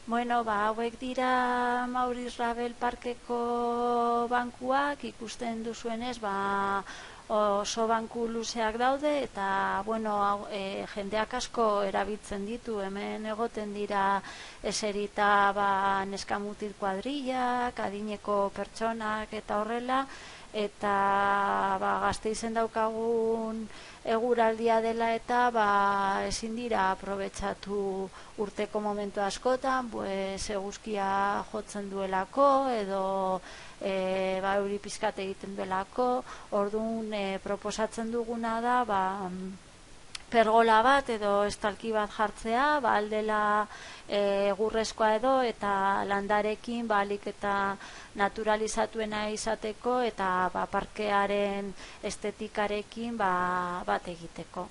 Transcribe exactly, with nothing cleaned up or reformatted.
Bueno, ba, hauek dira Maurice Ravel parkeko bankuak, ikusten duzuenez, ba, oso banku luzeak daude, eta, bueno, hau, e, jendeak asko erabiltzen ditu, hemen egoten dira eserita, ba, neskamutil kuadrillak, adineko pertsonak eta horrela, eta ba, Gasteizen daukagun eguraldia dela eta ba, ezin dira aprobetxatu urteko momentu askotan, pues, eguzkia jotzen duelako edo e, ba, euri pizkat egiten duelako. Orduan e, proposatzen duguna da ba, pergola bat edo estalki bat jartzea, ba, aldela e, egurrezkoa edo eta landarekin ba, alik eta naturalizatuena izateko eta ba, parkearen estetikarekin ba, bat egiteko.